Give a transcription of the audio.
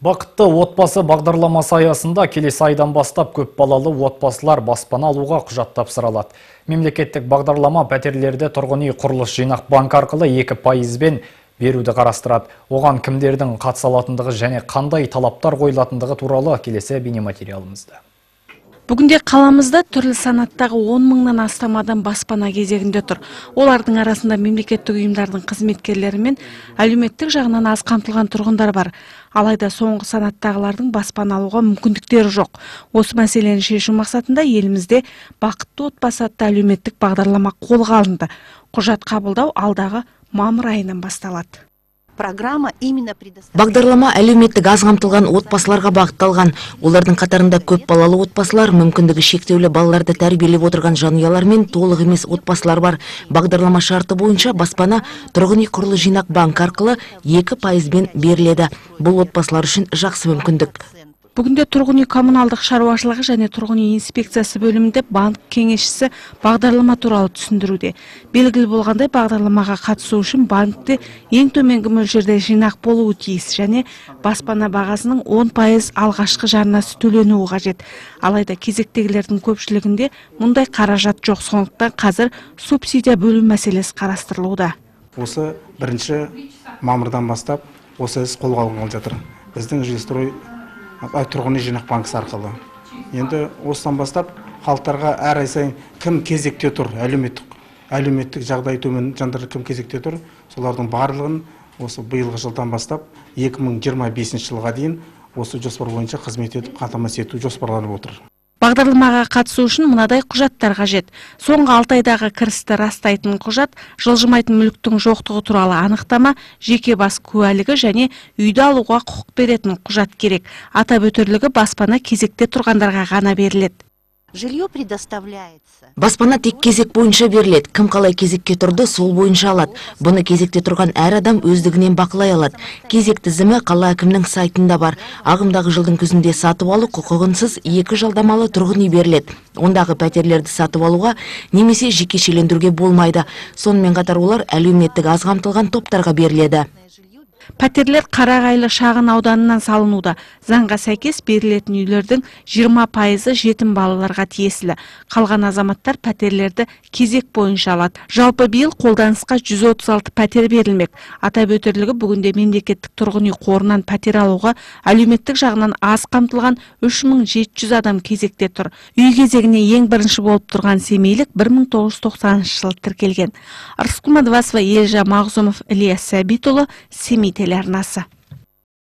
Бақытты отбасы бағдарламасы аясында келесі айдан бастап көп балалы отбасылар баспана алуға құжат тапсыра алады. Мемлекеттік бағдарлама пәтерлерді тұрғын үй құрылыс жинақ банк арқылы 2%-бен беруді қарастырады. Оған кімдердің қатыса алатындығы және қандай талаптар қойылатындығы туралы келесі бейнематериалымызда. Бүгінде қаламызда түрлі санаттағы 10 мыңнан астам адам баспана кезегінде тұр. Олардың арасында мемлекеттік ұйымдардың қызметкерлері мен әлеуметтік жағынан аз қамтылған тұрғындар бар. Алайда соңғы санаттағылардың баспана алуға мүмкіндіктері жоқ. Осы мәселені шешу мақсатында елімізде бақытты отбасы атты әлеуметтік бағдарлама қолға алынды. Құжат қабылдау алдағы мамыр айынан басталады. Бағдарлама әлеуметтік аз қамтылған отбасыларға бағытталған. Олардың қатарында көп балалы отбасылар, мүмкіндігі шектеулі балаларды тәрбиелеп отырған жанұялар мен толық емес отбасылар бар. Бағдарлама шарты бойынша баспана тұрғын үй құрылыс жинақ банк арқылы 2%-бен беріледі. Бұл отбасылар үшін жақсы мүмкіндік. Бүгінде тұрғын үй коммуналдық шаруашылығы және тұрғын үй инспекциясы бөлімінде банк кеңесшісі бағдарлама туралы түсіндіруде. Белгілі болғандай, бағдарламаға қатысу үшін банкте ең төменгі мөлшерде жинақ болуы тиіс және баспана бағасының 10% алғашқы жарнасы төленуі қажет. Алайда кезектегілердің көпшілігінде мұндай қаражат жоқ, сондықтан қазір субсидия бөлу мәселесі қарастырылуда. Осы 1 мамырдан бастап осы іс қолға алынып жатыр. Біздің жилстрой тұрғын үй жинақ банкасы арқылы. Енді осыдан бастап халықтарға әр ай сайын кім кезекте тұр, әлеуметтік жағдай төмен жандар кім кезекте тұр, солардың барлығын осы биылғы жылдан бастап 2025 жылға дейін осы жоспар бойынша қызмет етіп қамтамасыз ету жоспарланып отыр. Бағдарламаға қатысу үшін мынадай құжаттар қажет. Соңғы 6 айдағы кірісті растайтын құжат, жылжымайтын мүліктің жоқтығы туралы анықтама, жеке бас куәлігі және үйді алуға құқық беретін құжат керек. Атап өтерлігі баспана кезекте тұрғандарға ғана беріледі. Баспана тек кезек бойынша беріледі. Кім қалай кезекке тұрды, сол бойынша алады. Бұны кезекте тұрған әр адам өздігінен бақылай алады. Кезек тізімі қала әкімінің сайтында бар. Ағымдағы жылдың күзінде сатып алу құқығынсыз 2 жалдамалы тұрғын үй беріледі. Ондағы пәтерлерді сатып алуға немесе жекешелендіруге болмайды. Сонымен қатар олар әлеуметтік аз қамтылған топтарға беріледі. Пәтерлер Қарағайлы шағын ауданынан салынуда. Заңға сәйкес берілетін үйлердің 20%-ы жетім балаларға тиесілі. Қалған азаматтар пәтерлерді кезек бойынша алады. Жалпы биыл қолданысқа 136 пәтер берілмек. Атап өтерлігі бүгінде мемлекеттік тұрғын үй қорынан пәтер алуға әлеуметтік жағынан аз қамтылған 3700 адам кезекте тұр. Үй кезегіне ең бірінші болып тұрған семейлік 1990 жылы тіркелген. Арыскүл Мадвасова, Елжа Мағзумов, Ильяс Сәбитұлы, Семей телеарнасы.